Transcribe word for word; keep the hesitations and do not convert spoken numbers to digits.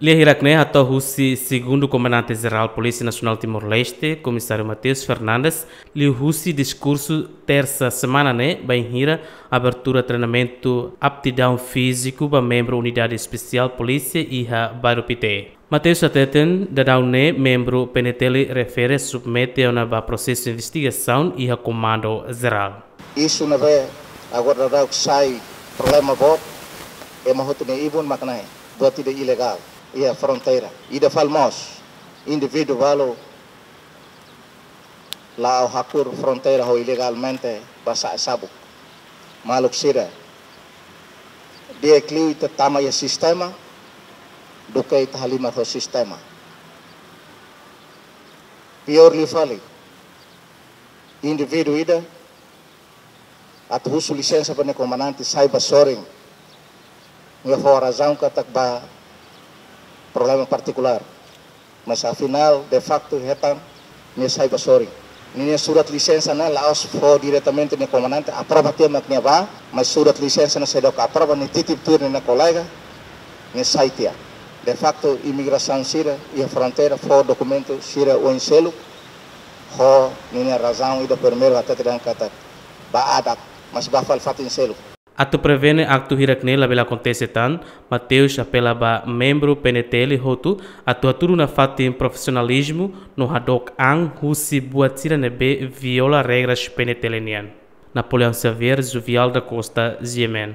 Lia hirak-ne'e hato'o husi Segundu Komandante Jerál Polísia Nasionál Timor-Leste, Komisáriu Mateus Fernandes, liuhusi diskursu tersa semana ne'e, bainhira abertura treinamentu aptidaun fíziku ba membru Unidade Espesiál Polísia iha Bairru Pité. Mateus hateten, daudaun ne'e membru P N T L refere submete ona ba prosesu investigasaun iha Komandu Jerál. Isu ne'ebé agora daudaun sai problema boot, ema hotu nia ibun mak ne'e, buat ida ilegál iha fronteira. Ida fali mós, indivíduu balu la'o hakur fronteira ho ilegalmente ba sa'e sabuk. Maluk sira, di'ak liu ita tama iha sistema, duké ita halimar ho sistema. Piór liu fali, indivíduu ida atu husu lisensa ba nia komandante sai ba sorin. Nia fó razaun katak ba problema partikulár. Mas afinál, de facto, hetan nia sai ba sorin. Ninia surat lisensa ne'e la'ós fó diretamente nia komandante, aprova tiha mak nia bá, mas surat lisensa ne'e seidauk aprova, nia titip tuir nia kolega, nia sai tiha. De facto, imigrasaun sira iha fronteira fó dokumentu sira oin seluk, ho ninia razaun ida primeiru hatete dehan katak ba adat, mas ba fali fatin seluk. Atu prevene aktu hirak-ne'e labele akontese tan, Mateus apela ba membru P N T L hotu atu hatudu nafatin profisionalizmu no hadook an husi buat sira ne'ebé viola regras P N T L nian. Napoleão Xavier, Juvial da Costa, G M N.